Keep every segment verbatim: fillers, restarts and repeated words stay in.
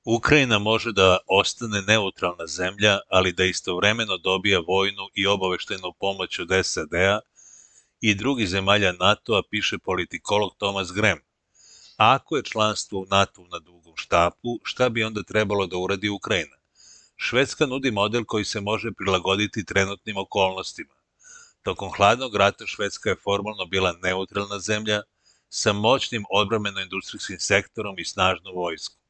Ukrajina može da ostane neutralna zemlja, ali da istovremeno dobija vojnu i obaveštajnu pomoć od S A D-a i drugih zemalja NATO-a, piše politikolog Thomas Graham. A ako je članstvo u NATO na dugom štapu, šta bi onda trebalo da uradi Ukrajina? Švedska nudi model koji se može prilagoditi trenutnim okolnostima. Tokom hladnog rata Švedska je formalno bila neutralna zemlja sa moćnim odbrambeno-industrijskim sektorom i snažnom vojskom.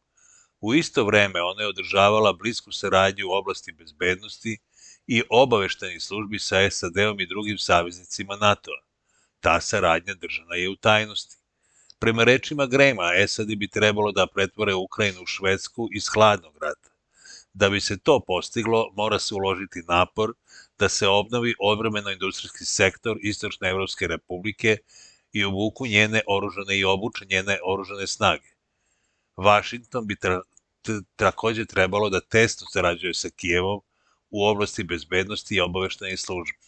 U isto vreme ona je održavala blisku saradnju u oblasti bezbednosti i obaveštajnih službi sa S A D-om i drugim saveznicima NATO-a. Ta saradnja držana je u tajnosti. Prema rečima Grahama, S A D bi trebalo da pretvore Ukrajinu u Švedsku iz hladnog rata. Da bi se to postiglo, mora se uložiti napor da se obnovi odbrambeno-industrijski sektor Istočne Evropske republike i obuku njene oružane i obuče njene oružane snage. Vašington bi tra takođe trebalo da tesno sarađuje sa Kijevom u oblasti bezbednosti i obaveštajnih službi.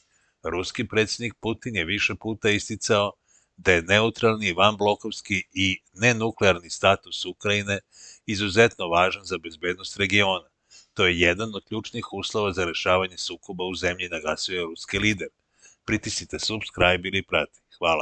Ruski predsjednik Putin je više puta isticao da je neutralni, vanblokovski i nenuklearni status Ukrajine izuzetno važan za bezbednost regiona. To je jedan od ključnih uslova za rešavanje sukoba u zemlji, naglasio je ruski lider. Pritisnite subscribe ili prati. Hvala.